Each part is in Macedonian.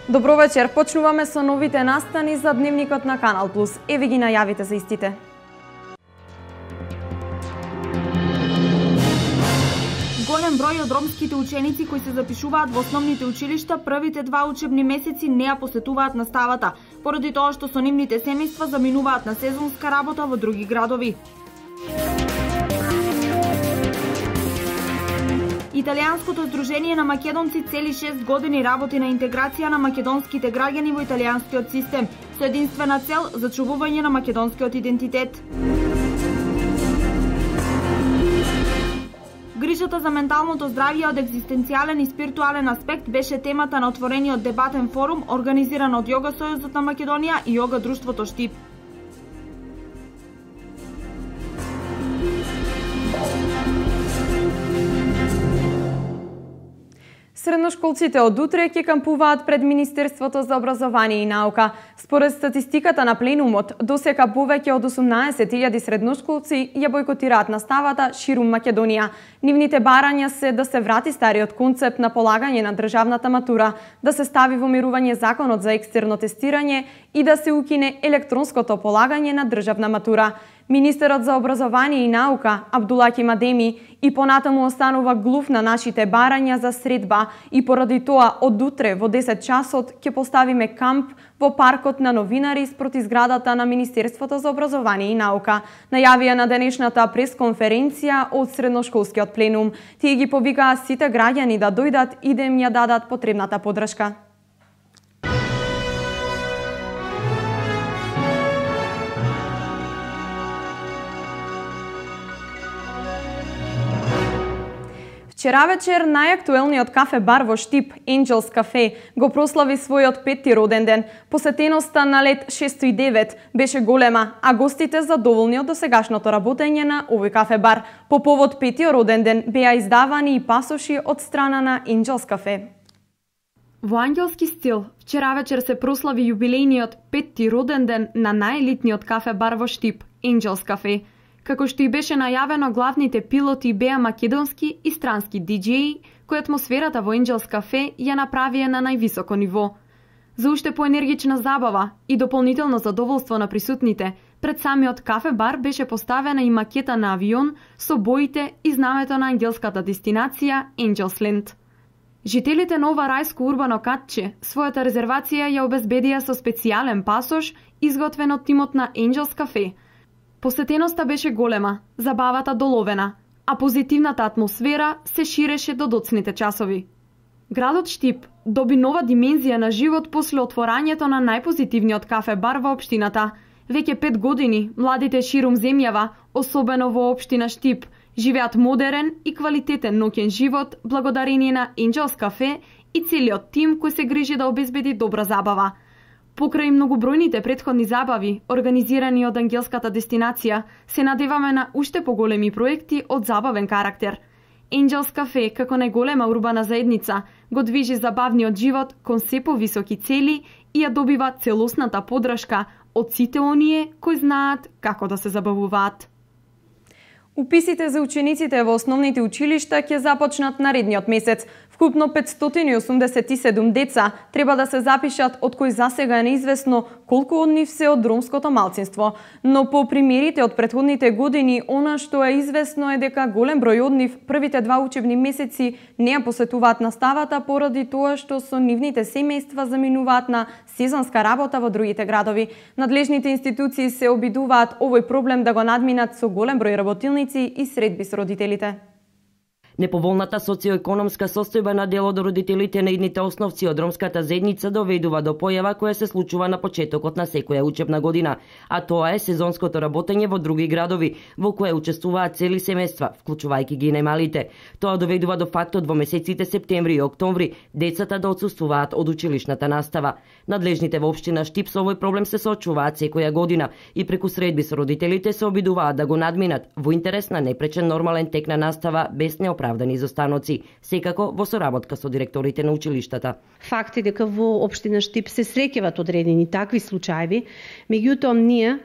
Добро вечер, почнуваме со новите настани за Дневникот на Канал Плюс. Еве ги најавите за истите. Голем број од ромските ученици кои се запишуваат во основните училишта првите 2 учебни месеци не ја посетуваат наставата, поради тоа што со нивните семејства заминуваат на сезонска работа во други градови. Италијанското здружение на македонци цели 6 години работи на интеграција на македонските граѓани во италијанскиот систем, со единствена цел зачувување на македонскиот идентитет. Грижата за менталното здравје од екзистенцијален и спиритуален аспект беше темата на отворениот дебатен форум организиран од Јога Сојузот на Македонија и Јога Друштвото Штип. Средношколците од утре ќе кампуваат пред Министерството за образование и наука. Според статистиката на пленумот, досека повеќе од 18.000 средношколци ја бойкотираат наставата ширум Македонија. Нивните барања се да се врати стариот концепт на полагање на државната матура, да се стави во мирување законот за екстерно тестирање и да се укине електронското полагање на државна матура. Министерот за образование и наука, Абдулаки Мадеми, и понатаму останува глув на нашите барања за средба и поради тоа од утре во 10 часот ќе поставиме камп во паркот на новинари спроти зградата на Министерството за образование и наука. Најавија на денешната пресконференција од средношколскиот пленум. Тие ги повикаа сите граѓани да дојдат и да им ја дадат потребната поддршка. Вчера вечер најактуелниот кафе-бар во Штип, Angels Cafe, го прослави својот 5-ти роден ден. Посетеноста на лет 609 беше голема, а гостите задоволни од досегашното работење на овој кафе-бар. По повод 5-тиот роден ден беа издавани и пасоши од страна на Angels Cafe. Во ангелски стил, вчера вечер се прослави јубилејниот 5-ти роден ден на најелитниот кафе-бар во Штип, Angels Cafe. Како што и беше најавено, главните пилоти беа македонски и странски диџеи, кои атмосферата во Angels Cafe ја направија на највисоко ниво. За уште поенергична забава и дополнително задоволство на присутните, пред самиот кафе-бар беше поставена и макета на авион со боите и знамето на ангелската дестинација Angels Land. Жителите на ова рајско урбано катче својата резервација ја обезбедија со специјален пасош изготвен од тимот на Angels Cafe. Посетеноста беше голема, забавата доловена, а позитивната атмосфера се ширеше до доцните часови. Градот Штип доби нова димензија на живот после отворањето на најпозитивниот кафе-бар во општината. Веќе 5 години младите ширум земјава, особено во општина Штип, живеат модерен и квалитетен ноќен живот благодарение на Angels Cafe и целиот тим кој се грижи да обезбеди добра забава. Покрај многобројните претходни забави, организирани од ангелската дестинација, се надеваме на уште поголеми проекти од забавен карактер. Angels Cafe, како најголема урбана заедница, го движи забавниот живот кон се повисоки цели и ја добива целосната поддршка од сите оние кои знаат како да се забавуваат. Уписите за учениците во основните училишта ќе започнат наредниот месец. Вкупно 587 деца треба да се запишат, од кои засега е неизвестно колку од нив се од ромското малцинство. Но по примерите од претходните години, она што е известно е дека голем број од нив првите 2 учебни месеци не ја посетуваат наставата поради тоа што со нивните семејства заминуваат на сезонска работа во другите градови. Надлежните институции се обидуваат овој проблем да го надминат со голем број работилници и средби со родителите. Неповолната социоекономска состојба на дел од родителите на идните основци од ромската заедница доведува до појава која се случува на почетокот на секоја учебна година, а тоа е сезонското работење во други градови, во кое учествуваат цели семејства, вклучувајќи ги и најмалите. Тоа доведува до фактот во месеците септември и октомври децата да отсуствуваат од училишната настава. Надлежните во општина Штип со овој проблем се соочуваат секоја година и преку средби со родителите се обидуваат да го надминат во интерес на непречен нормален тек на настава без неоправдани изостаноци, секако во соработка со директорите на училиштата. Факт е дека во општина Штип се среќават одредени такви случаи, меѓутоа ние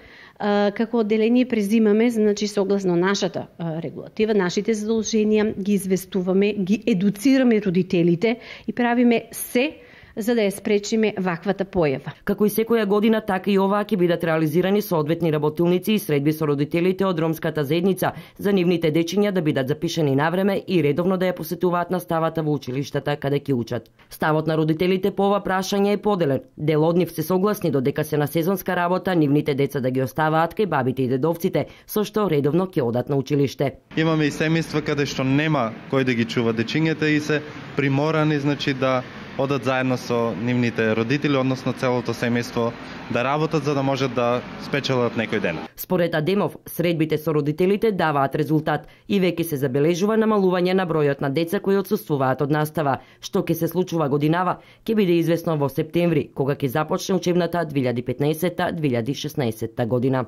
како одделение презимаме, значи согласно нашата регулатива, нашите задолженија, ги известуваме, ги едуцираме родителите и правиме се за да ја спречиме ваквата појава. Како и секоја година, така и оваа ќе бидат реализирани соодветни работилници и средби со родителите од ромската заедница за нивните дечиња да бидат запишани навреме и редовно да ја посетуваат наставата во училиштата каде ќе учат. Ставот на родителите по ова прашање е поделен. Дел од нив се согласни додека се на сезонска работа нивните деца да ги оставаат кај бабите и дедовците, со што редовно ќе одат на училиште. Имаме и семејства каде што нема кој да ги чува дечињата и се приморани да одат заедно со нивните родители, односно целото семејство, да работат за да можат да спечелат некој ден. Според Адемов, средбите со родителите даваат резултат и веќе се забележува намалување на бројот на деца кои отсуствуваат од настава, што ќе се случува годинава, ќе биде известно во септември, кога ќе започне учебната 2015-2016 година.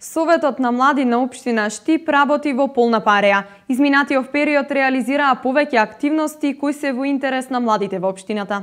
Советот на млади на општина Штип работи во полна пареја. Изминатиот период реализираа повеќе активности кои се во интерес на младите во општината.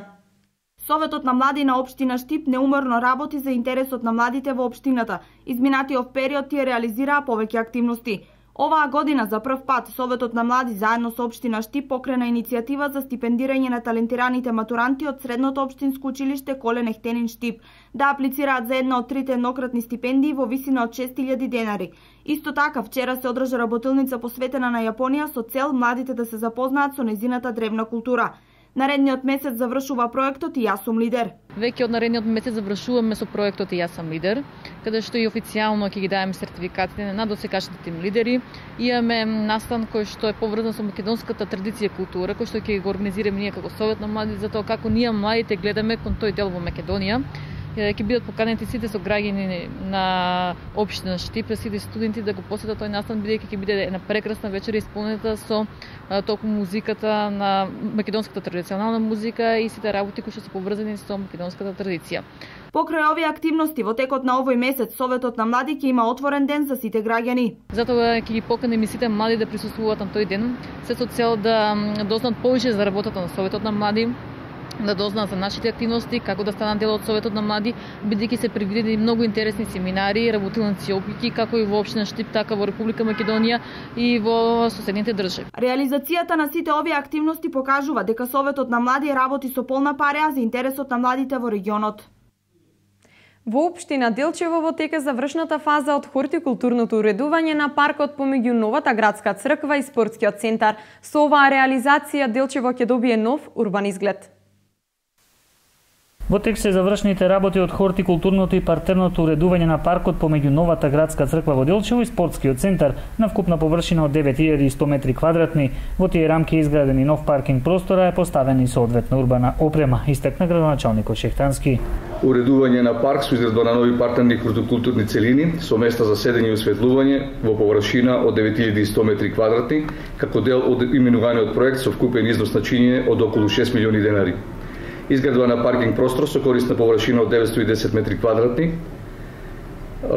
Советот на млади на општина Штип неуморно работи за интересот на младите во општината. Изминатиот период тие реализираа повеќе активности. Оваа година за прв пат Советот на млади заедно со општина Штип покрена иницијатива за стипендирање на талентираните матуранти од средното општинско училиште Колен Ехтенин Штип да аплицираат за една од трите еднократни стипендии во висина од 6000 денари. Исто така вчера се одржа работилница посветена на Јапонија со цел младите да се запознаат со нејзината древна култура. Наредниот месец завршува проектот и Јас сум лидер. Веќе од наредниот месец завршуваме со проектот и Јас сум лидер, каде што и официјално ќе ги даваме сертификатите на досегашните тим лидери. Имаме настан кој што е поврзан со македонската традиција и култура, кој што ќе го организираме ние како Совет на млади за тоа како ние младите гледаме кон тој дел во Македонија. Ќе бидат поканети сите со граѓани на општина Штип, сите студенти да го посетат тој настан, бидејќи ќе биде една прекрасна вечер исполнета со толку музиката на македонската традиционална музика и сите работи кои што се поврзани со македонската традиција. Покрај овие активности во текот на овој месец Советот на млади ќе има отворен ден за сите граѓани. Затоа ќе ги поканеме сите млади да присуствуваат на тој ден, се со цел да дознаат повеќе за работата на Советот на млади, да дознаат за нашите активности, како да станат дел од Советот на млади, бидејќи се предвидени многу интересни семинари, работилници опики, како и во општина Штип, така во Република Македонија и во соседните држави. Реализацијата на сите овие активности покажува дека Советот на млади работи со полна пареја за интересот на младите во регионот. Во општина Делчево во тек е завршната фаза од хортикултурното уредување на паркот помеѓу новата градска црква и спортскиот центар. Со оваа реализација Делчево ќе добие нов урбан изглед. Во тек се завршните работи од хортикултурното и партерното уредување на паркот помеѓу новата градска црква во Делчево и спортскиот центар на вкупна површина од 9100 метри квадратни. Во тие рамки е изграден и нов паркинг простора, е поставена и соодветна урбана опрема, истакна градоначалникот Шехтански. Уредување на парк со изградба на нови партерни хортикултурни целини со места за седење и осветлување во површина од 9100 метри квадратни, како дел од именуваниот проект со вкупен износ на чинење од околу 6 милиони денари. Изградба на паркинг простор со корисна површина од 910 метри квадратни.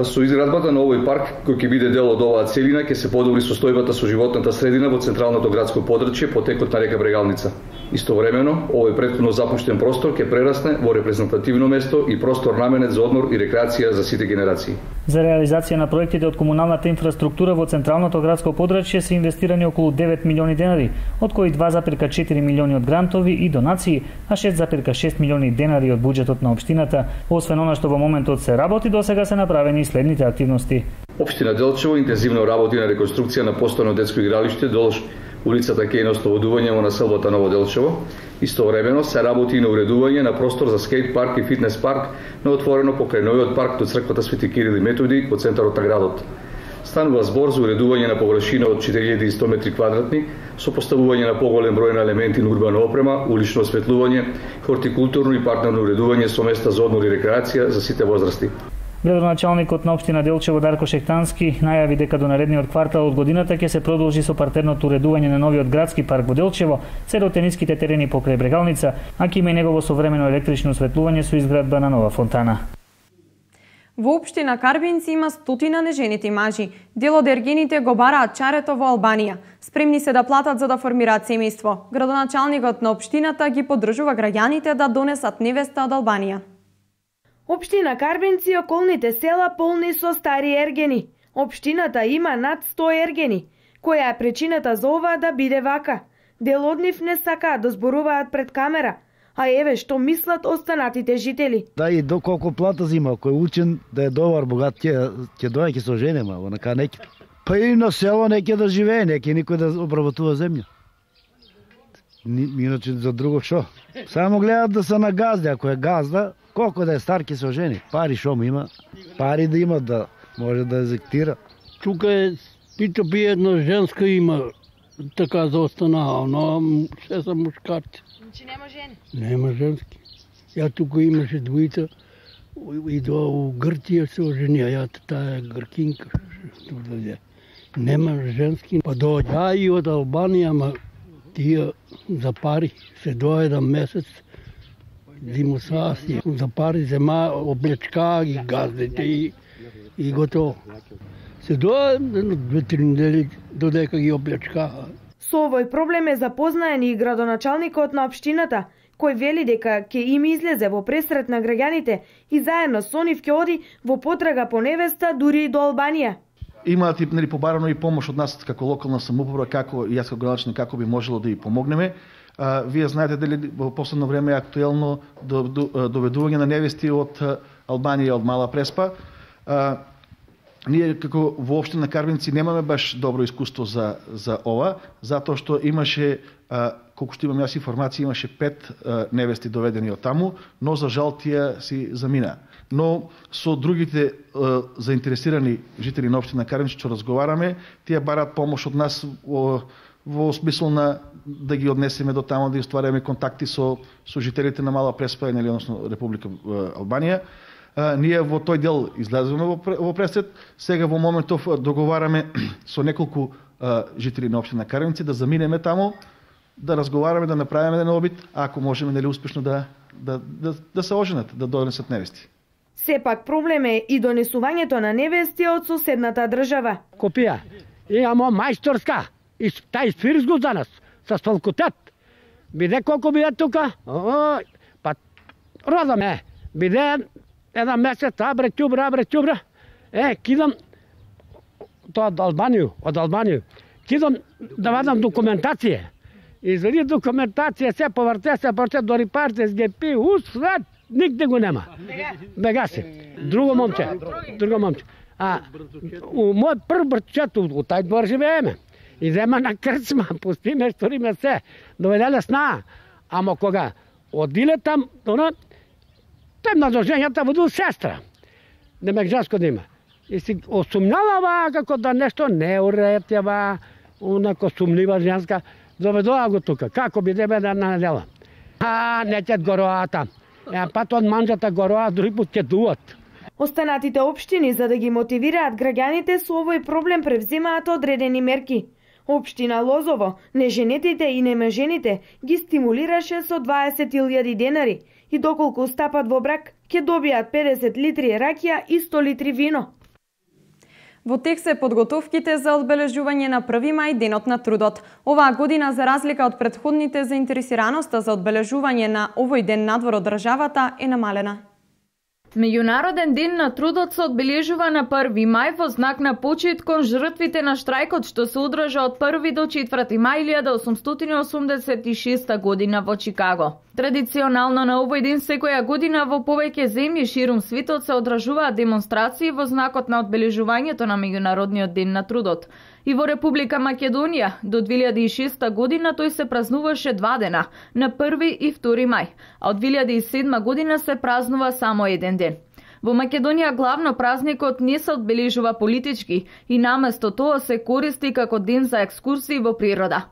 Со изградбата на овој парк, кој ќе биде дел од оваа целина, ќе се подобри состојбата со животната средина во централното градско подрачје по текот на река Брегалница. Истовремено, овој претходно запуштен простор ќе прерасне во репрезентативно место и простор наменет за одмор и рекреација за сите генерации. За реализација на проектите од комуналната инфраструктура во централното градско подрачје се инвестирани околу 9 милиони денари, од кои 2,4 милиони од грантови и донации, а 6,6 милиони денари од буџетот на општината. Освен она што во моментот се работи, досега се направени и следните активности. Општина Делчево интензивно работи на реконструкција на постојано детско игралиште долж улицата Кејн ослободување во населбата Ново Делчево. Истовремено се работи и на уредување на простор за скејт парк и фитнес парк на отворено покрај новиот парк до црквата Свети Кирил и Методи во центарот на градот. Станува збор за уредување на површина од 4100 метри квадратни со поставување на поголем број на елементи на урбана опрема, улично осветлување, хортикултурно и паркно уредување со места за одмор и рекреација за сите возрасти. Градоначалникот на општина Делчево Дарко Шехтански најави дека до наредниот квартал од годината ќе се продолжи со партерното уредување на новиот градски парк во Делчево, се до тениските терени покрај Брегалница, а ќе има и негово современо електрично осветлување со изградба на нова фонтана. Во општина Карбинци има стотина неженити мажи. Дел од ергените го бараат чарето во Албанија. Спремни се да платат за да формираат семејство. Градоначалникот на општината ги поддржува граѓаните да донесат невеста од Албанија. Општина Карбинци и околните села полни со стари ергени. Општината има над 100 ергени. Која е причината за ова да биде вака? Дел од нив не сакаат да зборуваат пред камера. А еве што мислат останатите жители. Да и доколку плата зима, кој учен да е добар, богат, ќе дојде, ќе се оженема, онака неќе. Па и на село неќе да живее, неќе никој да обработува земја. Иначе за друго шо? Само гледат да се на газда, ако е газда, колко да е стар ќе се ожени. Пари шо му има? Пари да има, да може да езектира. Тука е пито би едно женска има така за останала, но се са мушкарци. Значи нема жени? Нема женски. Ја тука имаше двојца и до Грција се оженија, ја таа гркинка. Нема женски. Па доаѓа и од Албанија, ма тие за пари се дојде месец зимосаси. За пари зема облечка ги газдите и готово. Се дојде 2-3 недели додека ги облечка. Со овој проблем е запознаен и градоначалникот на општината, кој вели дека ќе им излезе во пресрет на граѓаните и заедно со нив ќе оди во потрага по невеста дури и до Албанија. Имаат и побарано и помош од нас како локална самоуправа, како и јас како градоначалник, како би можело да ја помогнеме. Вие знаете дали во последно време е актуелно доведување на невести од Албанија и од Мала Преспа. Ние како во општина Карбинци немаме баш добро искуство за ова, затоа што имаше, колку што имам јас информација, имаше 5 невести доведени од таму, но за жал тие си замина. Но со другите заинтересирани жители на општина Карбинци што разговараме, тие бараат помош од нас во смисла на да ги однесеме до таму, да ствараме контакти со жителите на Мала Преспа, или односно Република Албанија. Ние во тој дел излеземе во пресрет. Сега во моментов договараме со неколку жители на општина Карбинци да заминеме таму, да разговараме, да направиме еден обид, ако можеме нели успешно да се оженат, да донесат невести. Сепак проблем е и донесувањето на невести од соседната држава. Копија. Имамо мајсторска и тај свирзгу за нас со факултет. Биде колку биде тука? Па родаме. Биде еден месец, абре ќубра. Кидам тоа од Албанија. Кидам да вадам документација. Извади документација, се поврте, дори парте, СГП, свет, нигде го нема. Бега се. Друго момче. Мој прв братчет, у тај двор живееме. Идеме на крцма, пустиме, сториме се. Доведеле сна. Ама кога одиле там, тем на дожењата буду сестра. Немек женско да има. И си осумнала како да нешто не уретева, унако сумнива женска. Доведоа го тука. Како бидеме на недела? Не ќе гороата. Пат од манџата гороа, други пут ќе дуат. Останатите општини, за да ги мотивираат граѓаните со овој проблем, превземаат одредени мерки. Општина Лозово, неженетите и немежените ги стимулираше со 20.000 денари и доколку стапат во брак, ќе добијат 50 литри ракија и 100 литри вино. Во тек се подготовките за одбележување на 1 мај, денот на трудот. Оваа година, за разлика од претходните, заинтересираноста за одбележување на овој ден надвор од државата е намалена. Меѓународен ден на трудот се одбележува на 1 мај во знак на почит кон жртвите на штрајкот што се одржа од 1 до 4 мај 1886 година во Чикаго. Традиционално на овој ден секоја година во повеќе земји ширум светот се одржуваат демонстрации во знакот на одбележувањето на Меѓународниот ден на трудот. И во Република Македонија до 2006 година тој се празнуваше 2 дена, на 1 и 2 мај, а од 2007 година се празнува само еден ден. Во Македонија главно празникот не се одбележува политички и наместо тоа се користи како ден за екскурзии во природа.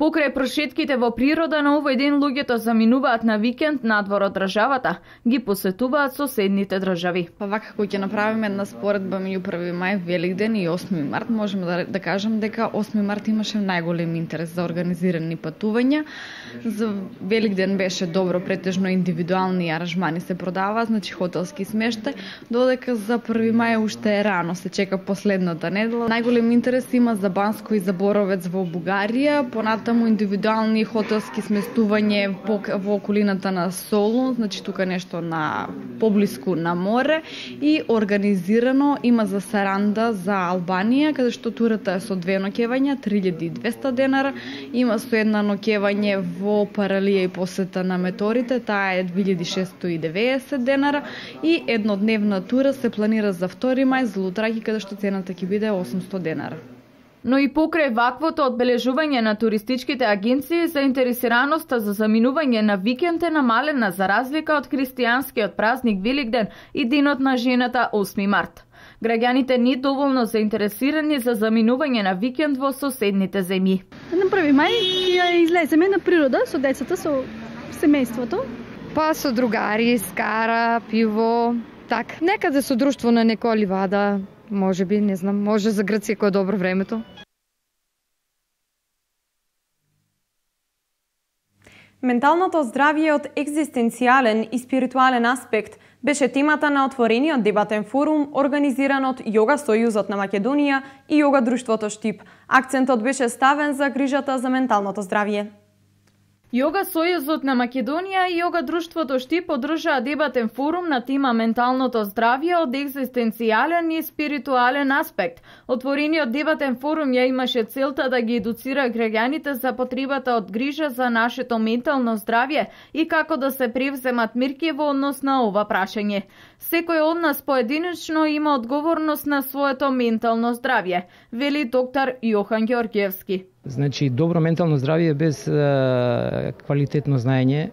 Покрај прошетките во природа на овој ден луѓето заминуваат на викенд надвор од државата, ги посетуваат соседните држави. Па вака кој ќе направиме една споредба меѓу 1 мај, Великден и 8 март, можеме да кажем дека 8 март имаше најголем интерес за организирани патувања. За Великден беше добро, претежно индивидуални аранжмани се продава, значи хотелски смештај, додека за 1 мај уште е рано, се чека последната недела. Најголем интерес има за Банско и за Боровец во Бугарија, понатаму натаму индивидуални хотелски сместување во околината на Солун, значи тука нешто на поблиску на море, и организирано има за Саранда за Албанија, каде што турата е со 2 ноќевања, 3200 денара, има со 1 ноќевање во Паралија и посета на Меторите, таа е 2690 денара, и еднодневна тура се планира за 2 мај за Лутраки, каде што цената ќе биде 800 денара. Но и покрај ваквото одбележување на туристичките агенции, заинтересираноста за заминување на викенд е намалена за разлика од христијанскиот празник Великден и денот на жената 8 март. Граѓаните не доволно заинтересирани за заминување на викенд во соседните земји. На 1 мај ќе излеземе на природа со децата, со семејството. Па со другари, скара, пиво, така. Некаде со друштво на некоја ливада, може би, не знам, може за Грција кој е добро времето. Менталното здравје од екзистенцијален и спиритуален аспект беше темата на отворениот дебатен форум организиран од Јога Сојузот на Македонија и Јога Друштвото Штип. Акцентот беше ставен за грижата за менталното здравје. Јога Сојузот на Македонија и Јога Друштвото Штип одржаа дебатен форум на тема менталното здравје од екзистенцијален и спиритуален аспект. Отворениот дебатен форум ја имаше целта да ги едуцира граѓаните за потребата од грижа за нашето ментално здравје и како да се превземат мерки во однос на ова прашање. Секој од нас поединечно има одговорност на своето ментално здравје, вели доктор Јохан Ѓорѓевски. Значи, добро ментално здравје без квалитетно знаење,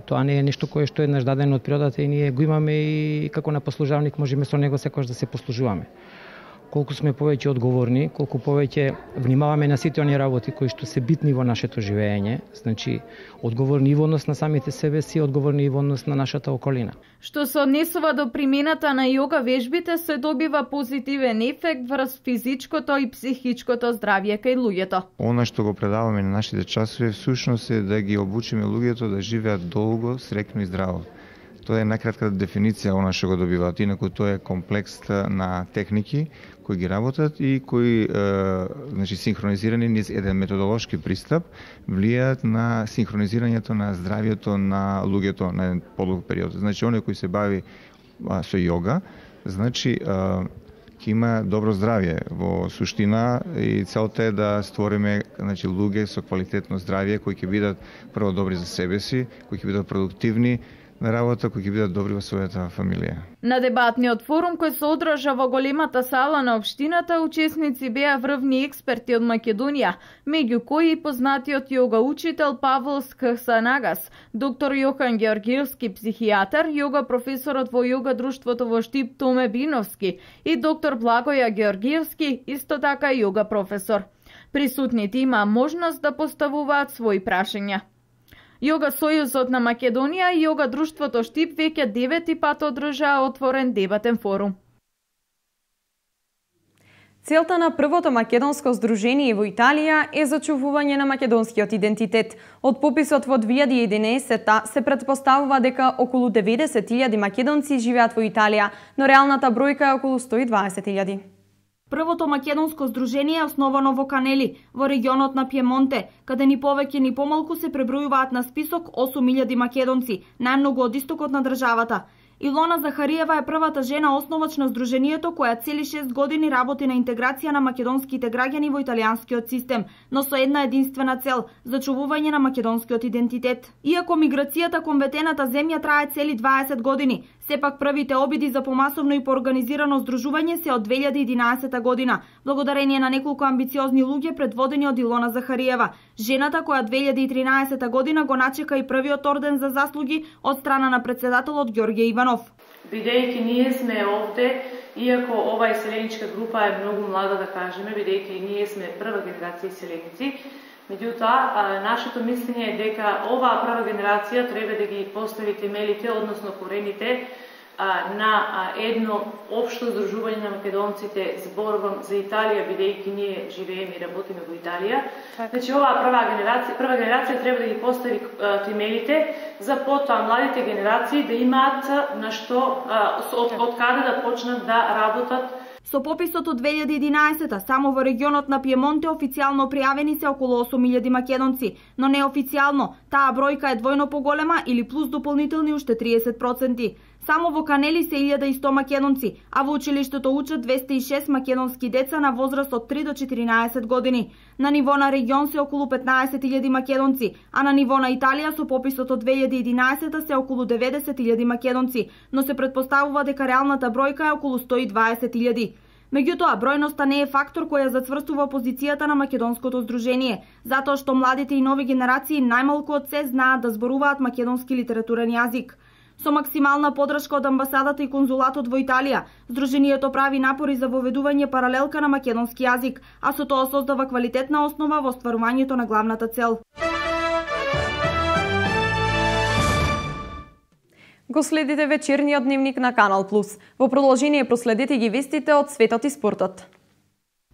тоа не е нешто кое што е еднаш дадено од природата и ние го имаме и како на послужавник можеме со него секогаш да се послужуваме. Колку сме повеќе одговорни, колку повеќе внимаваме на сите оние работи кои што се битни во нашето живење, значи одговорни и во однос на самите себе си, одговорни и во однос на нашата околина. Што се однесува до примената на јога вежбите, се добива позитивен ефект врз физичкото и психичкото здравје кај луѓето. Она што го предаваме на нашите часови всушност е да ги обучиме луѓето да живеат долго, среќно и здраво. Тоа е најкратка дефиниција она што го добиваат, инаку тоа е комплекс на техники кои ги работат и кои значи синхронизирани низ еден методолошки пристап влијаат на синхронизирањето на здравјето на луѓето на еден подолг период. Значи оној кој се бави со јога, значи ќе има добро здравје во суштина и целта е да створиме значи луѓе со квалитетно здравје кои ќе бидат прво добри за себе си, кои ќе бидат продуктивни на работа, кои ќе бидат добри во својата фамилија. На дебатниот форум кој се одржа во големата сала на општината, учесници беа врвни експерти од Македонија, меѓу кои и познатиот јога учител Павол Скхсанагас, доктор Јохан Ѓорѓевски, психијатар, јога професорот во Јога Друштвото во Штип Томе Биновски и доктор Благоја Ѓорѓевски, исто така јога професор. Присутните имаа можност да поставуваат своји прашања. Јога Сојузот на Македонија и Јога Друштвото Штип веќе 9 пат одржаа отворен дебатен форум. Целта на првото македонско здружение во Италија е зачувување на македонскиот идентитет. Од пописот во 2011 се претпоставува дека околу 90.000 македонци живеат во Италија, но реалната бројка е околу 120.000. Првото македонско здружение е основано во Канели, во регионот на Пиемонте, каде ни повеќе ни помалку се пребројуваат на список 8.000 македонци, најмногу од истокот на државата. Илона Захариева е првата жена основач на здружението која цели 6 години работи на интеграција на македонските граѓани во италијанскиот систем, но со една единствена цел – зачувување на македонскиот идентитет. Иако миграцијата кон ветената земја трае цели 20 години, сепак првите обиди за помасовно и поорганизирано здружување се од 2011 година, благодарение на неколку амбициозни луѓе предводени од Илона Захариева, жената која 2013 година го начека и првиот орден за заслуги од страна на председателот Ѓорѓе Иванов. Бидејќи ние сме овде, иако ова иселеничка група е многу млада, да кажеме, бидејќи ние сме прва генерација иселеници, меѓутоа нашето мислење е дека оваа прва генерација треба да ги постави темелите, односно корените на едно општо здружување на македонците, зборувам за Италија, бидејќи ние живееме и работиме во Италија. Значи оваа прва генерација треба да ги постави темелите за потоа младите генерации да имаат на што од каде да почнат да работат Со пописот од 2011 само во регионот на Пиемонте официјално пријавени се околу 8000 македонци, но неофицијално таа бројка е двојно поголема или плюс дополнителни уште 30%. Само во Канели се 1100 македонци, а во училиштето учат 206 македонски деца на возраст од 3 до 14 години. На ниво на регион се околу 15.000 македонци, а на ниво на Италија со пописот од 2011 се околу 90.000 македонци, но се претпоставува дека реалната бројка е околу 120.000. Меѓутоа, бројноста не е фактор која зацврстува позицијата на македонското здружение, затоа што младите и нови генерации најмалку од се знаат да зборуваат македонски литературен јазик. Со максимална подршка од амбасадата и конзулатот во Италија, здруженијето прави напори за воведување паралелка на македонски јазик, а со тоа создава квалитетна основа во остварувањето на главната цел. Го следите вечерниот дневник на Канал Плюс. Во продолжение проследете ги вестите од светот и спортот.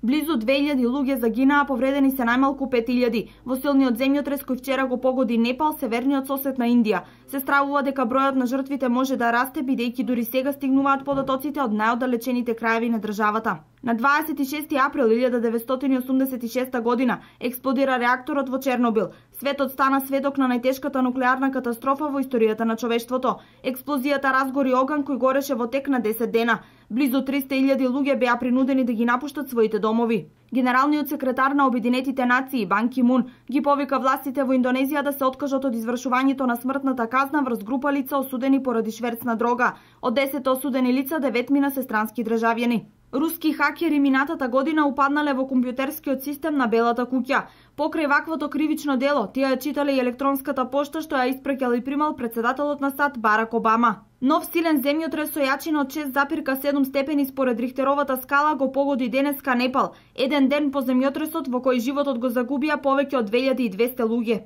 Близу 2000 луѓе загинаа, повредени се најмалку 5000. Во силниот земјотрес кој вчера го погоди Непал, северниот сосед на Индија. Се стравува дека бројот на жртвите може да расте, бидејќи дури сега стигнуваат податоците од најоддалечените краеви на државата. На 26 април 1986 година експлодира реакторот во Чернобил. Светот стана сведок на најтешката нуклеарна катастрофа во историјата на човештвото. Експлозијата разгори оган кој гореше во тек на 10 дена. Близу 300.000 луѓе беа принудени да ги напуштат своите домови. Генералниот секретар на Обединетите нации Бан Ки Мун ги повика властите во Индонезија да се откажат од извршувањето на смртната казна врз група лица осудени поради шверц на дрога. Од 10 осудени лица 9 се странски државјани. Руски хакери минатата година упаднале во компјутерскиот систем на Белата куќа. Покрај ваквото кривично дело, тие ја читале и електронската пошта што ја испраќал и примал председателот на САД Барак Обама. Нов силен земјотрес со јачина од 6,7 степени според Рихтеровата скала го погоди денеска Непал, еден ден по земјотресот во кој животот го загубија повеќе од 2200 луѓе.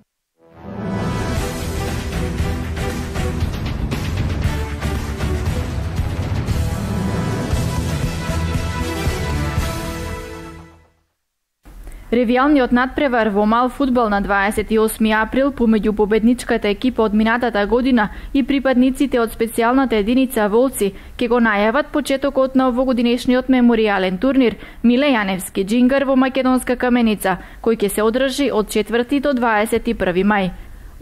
Ревијалниот надпревар во мал фудбал на 28 април помеѓу победничката екипа од минатата година и припадниците од специјалната единица Волци ќе го најават почетокот на овогодинешниот меморијален турнир Миле Јаневски Џингар во Македонска Каменица, кој ќе се одржи од 4 до 21 мај.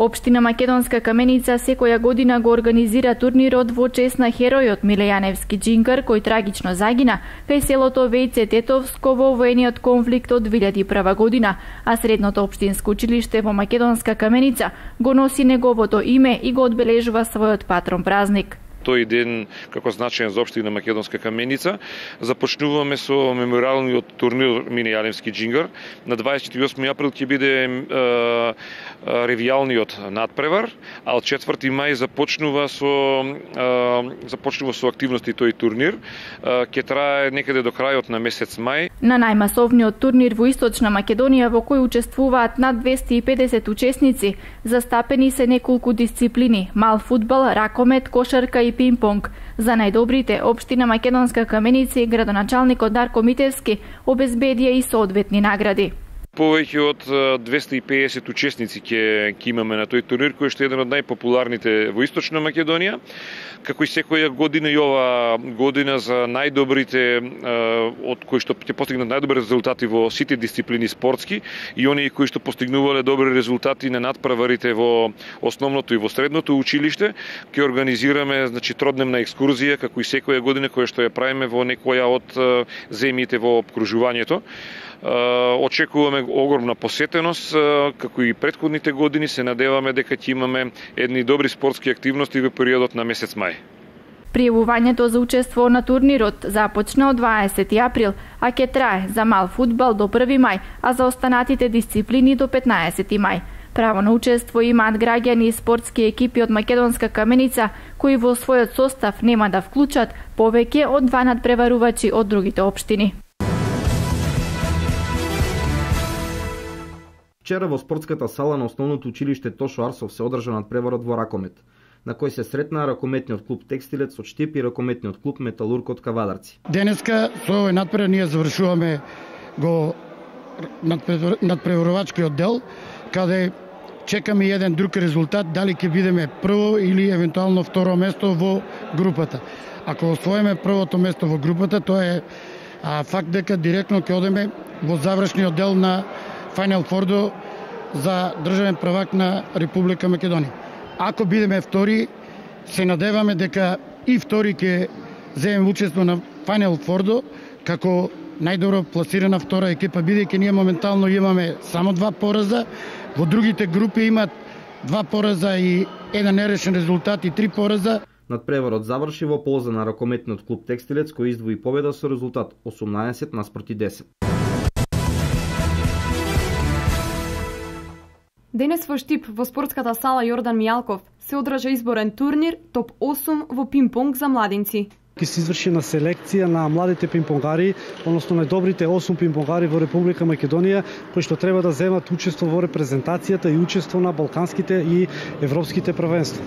Општина Македонска Каменица секоја година го организира турнирот во чест на херојот Миле Јаневски Џингар, кој трагично загина кај селото Вејце Тетовско во воениот конфликт од 2001 година, а средното општинско училиште во Македонска Каменица го носи неговото име и го одбележува својот патрон празник. Тој ден, како значаен за општина Македонска Каменица, започнуваме со меморијалниот турнир Миле Јаневски Џингар. На 28 април ќе биде ревијалниот надпревар, а од 4 мај започнува со активности тој турнир. Ќе трае некаде до крајот на месец мај. На најмасовниот турнир во Источна Македонија, во кој учествуваат над 250 учесници, застапени се неколку дисциплини: мал фудбал, ракомет, кошарка и пинг-понг. За најдобрите, општина Македонска Каменица и градоначалникот Дарко Митевски обезбедија и соодветни награди. Повеќе од 250 учесници ќе имаме на тој турнир, кој што е еден од најпопуларните во Источна Македонија. Како и секоја година, и ова година за најдобрите, од кои што ќе постигнат најдобри резултати во сите дисциплини спортски, и оние кои што постигнувале добри резултати на надпреварите во основното и во средното училиште, ќе организираме тродневна екскурзија, како и секоја година, која што ја правиме во некоја од земјите во обкружувањето. Очекуваме огромна посетеност, како и претходните години. Се надеваме дека ќе имаме едни добри спортски активности во периодот на месец мај. Пријавувањето за учество на турнирот започна од 20 април, а ќе трае за мал фудбал до 1 мај, а за останатите дисциплини до 15 мај. Право на учество имаат граѓани и спортски екипи од Македонска Каменица, кои во својот состав нема да вклучат повеќе од 2 надпреварувачи од другите општини. Вчера во спортската сала на основното училиште Тошо Арсов се одржа надпреварот во ракомет, на кој се сретнаа ракометниот клуб Текстилец од Штип и ракометниот клуб Металург од Кавадарци. Денеска со овој надпревар ние завршуваме го надпреварувачкиот дел, каде чекаме еден друг резултат, дали ќе бидеме прво или евентуално второ место во групата. Ако освоиме првото место во групата, тоа е а факт дека директно ќе одеме во завршниот дел на Final Four за државен првак на Република Македонија. Ако бидеме втори, се надеваме дека и втори ќе земеме учество на Final Four како најдобро пласирана втора екипа, бидејќи ние моментално имаме само 2 пораза, во другите групи имат 2 пораза и еден нерешен резултат и 3 пораза. Надпреварот заврши во полза на ракометниот клуб Текстилец кој издвои победа со резултат 18-10. Денес во Штип, во спортската сала Јордан Мијалков, се одржа изборен турнир топ 8 во пинг-понг за младинци. Ќе се изврши на селекција на младите пинг-понгари, односно најдобрите 8 пинг-понгари во Република Македонија, кои што треба да земат учество во репрезентацијата и учество на балканските и европските првенства.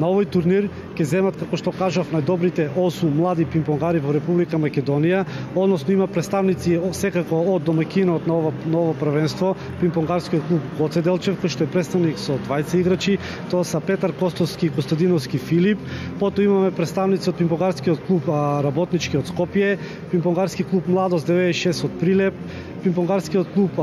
На овој турнир ќе земат, како што кажав, најдобрите 8 млади пинг-понгари во Република Македонија, односно има представници секако од домаќинот на ово првенство, пинг-понгарскиот клуб Гоце Делчев, кој што е представник со 20 играчи, тоа са Петар Костовски и Костадиновски Филип, потоа имаме представници од пинг-понгарскиот клуб Работнички од Скопје, пинг-понгарски клуб Младост 96 од Прилеп, пинг-понгарскиот клуб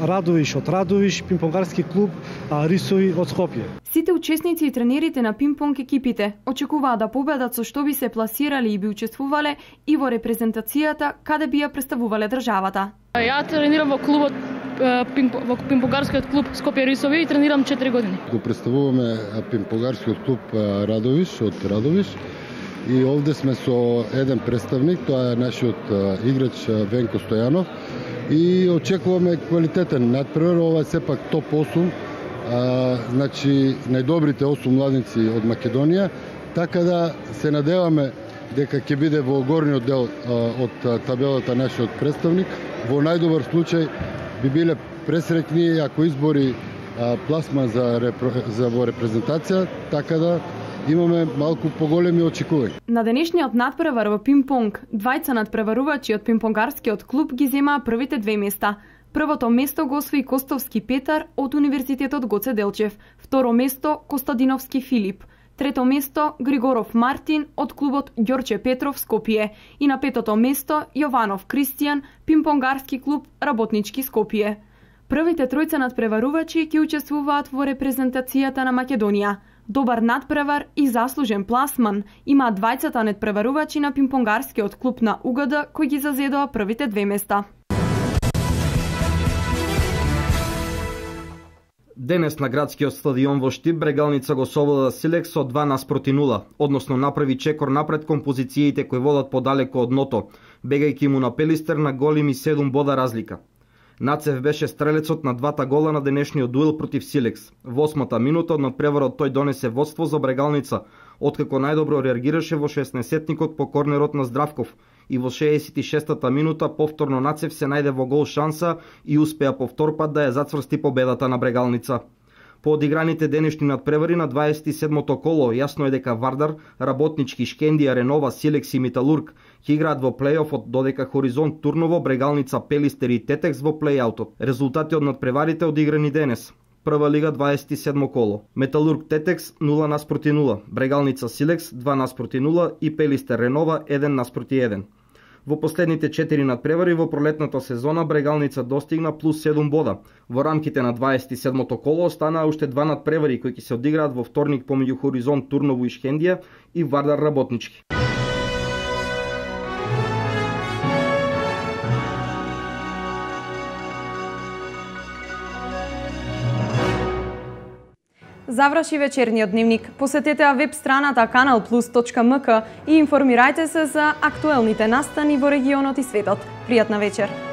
Радовиш од Радовиш, пинг-понгарски клуб Рисови од Скопје. Сите учесници и тренерите на пинг-понг екипите очекуваат да победат со што би се пласирале и би учествувале и во репрезентацијата каде би ја представувале државата. Ја тренирам во клубот во пинг-понгарскиот клуб Скопје Рисови и тренирам 4 години. Го представуваме пинг-понгарскиот клуб Радовиш од Радовиш и овде сме со еден представник, тоа е нашиот играч Венко Стојанов и очекуваме квалитетен надпревар, ова е сепак топ 8. Значи најдобрите 8 младинци од Македонија, така да се надеваме дека ќе биде во горниот дел од табелата нашиот представник. Во најдобар случај би биле пресрекни ако избори пласма за во репрезентација, така да имаме малку поголеми очекувања. На денешниот надпревар во пинг-понг, двајца надпреварувачи од пинг-понгарскиот клуб ги земаа првите 2 места. Првото место го освои Костовски Петар од Универзитетот Гоце Делчев, второ место Костадиновски Филип, трето место Григоров Мартин од клубот Ѓорче Петров Скопје и на 5-то место Јованов Кристијан, пинг-понгарски клуб Работнички Скопје. Првите тројца надпреварувачи ќе учествуваат во репрезентацијата на Македонија. Добар надпревар и заслужен пласман има двајцата надпреварувачи на пинг-понгарскиот клуб на УГД кои ги зазедоа првите 2 места. Денес на градскиот стадион во Штип Брегалница го совлада Силекс со 2-0, односно направи чекор напред кон позициите кои водат подалеку од дното, бегајќи му на Пелистер на големи 7 бода разлика. Нацев беше стрелецот на 2 гола на денешниот дуел против Силекс. Во 8-та минута од надпреварот тој донесе водство за Брегалница, откако најдобро реагираше во 16-тникот по корнерот на Здравков и во 66-та минута повторно Нацев се најде во гол шанса и успеа по втор пат да ја зацврсти победата на Брегалница. По одиграните денешни надпревари на 27-то коло, јасно е дека Вардар, Работнички, Шкендија, Ренова, Силекс и Металург ќе играат во плејофот, додека Хоризонт, Турново, Брегалница, Пелистер и Тетекс во плејаутот. Резултати од надпреварите одиграни денес. Прва лига 27 коло. Металург Тетекс 0-0, Брегалница Силекс 2-0 и Пелистер Ренова 1-1. Во последните 4 надпревари во пролетната сезона Брегалница достигна плюс 7 бода. Во рамките на 27-то коло останаа уште 2 надпревари кои ќе се одиграат во вторник помеѓу Хоризонт, Турново и Шкендија и Вардар Работнички. Заврши вечерниот дневник. Посетете веб страната kanalplus.mk и информирајте се за актуелните настани во регионот и светот. Пријатна вечер!